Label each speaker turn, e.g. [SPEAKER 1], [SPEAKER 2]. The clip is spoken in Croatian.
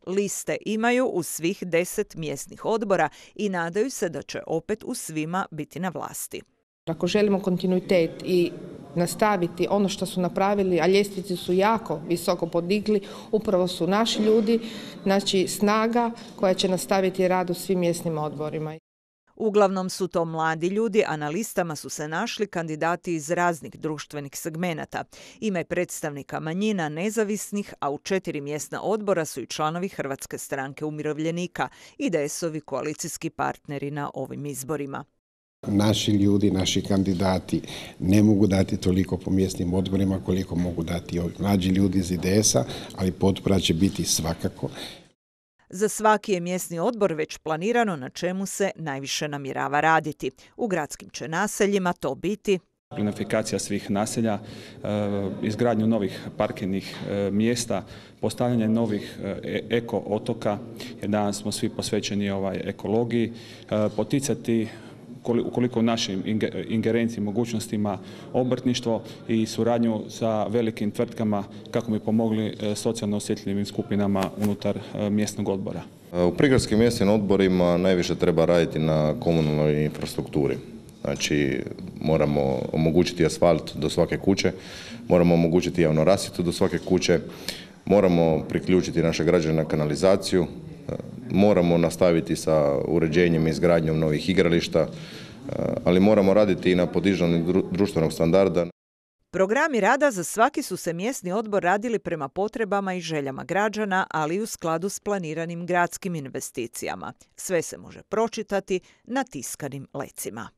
[SPEAKER 1] Liste imaju u svih 10 mjesnih odbora i nadaju se da će opet u svima biti na vlasti.
[SPEAKER 2] Ako želimo kontinuitet i nastaviti ono što su napravili, a ljestvice su jako visoko podigli, upravo su naši ljudi, znači snaga koja će nastaviti rad u svim mjesnim odborima.
[SPEAKER 1] Uglavnom su to mladi ljudi, a na listama su se našli kandidati iz raznih društvenih segmenata. Ima je predstavnika manjina, nezavisnih, a u 4 mjesna odbora su i članovi Hrvatske stranke umirovljenika, IDS-ovi koalicijski partneri na ovim izborima.
[SPEAKER 3] Naši ljudi, naši kandidati ne mogu dati toliko po mjesnim odborima koliko mogu dati ovi mlađi ljudi iz IDS-a, ali potpora će biti svakako.
[SPEAKER 1] Za svaki je mjesni odbor već planirano na čemu se najviše namjerava raditi. U gradskim će naseljima to biti
[SPEAKER 4] plinifikacija svih naselja, izgradnju novih parkirnih mjesta, postavljanje novih eko otoka, jer danas smo svi posvećeni ekologiji, poticati ukoliko u našim ingerenciji mogućnostima obrtništvo i suradnju sa velikim tvrtkama kako bi pomogli socijalno osjetljivim skupinama unutar mjesnog odbora.
[SPEAKER 5] U prigradskim mjesnim odborima najviše treba raditi na komunalnoj infrastrukturi. Znači, moramo omogućiti asfalt do svake kuće, moramo omogućiti javnu rasvjetu do svake kuće, moramo priključiti naše građane na kanalizaciju, moramo nastaviti sa uređenjem i izgradnjom novih igrališta, ali moramo raditi i na podizanju društvenog standarda.
[SPEAKER 1] Programi rada za svaki su se mjesni odbor radili prema potrebama i željama građana, ali i u skladu s planiranim gradskim investicijama. Sve se može pročitati na tiskanim lecima.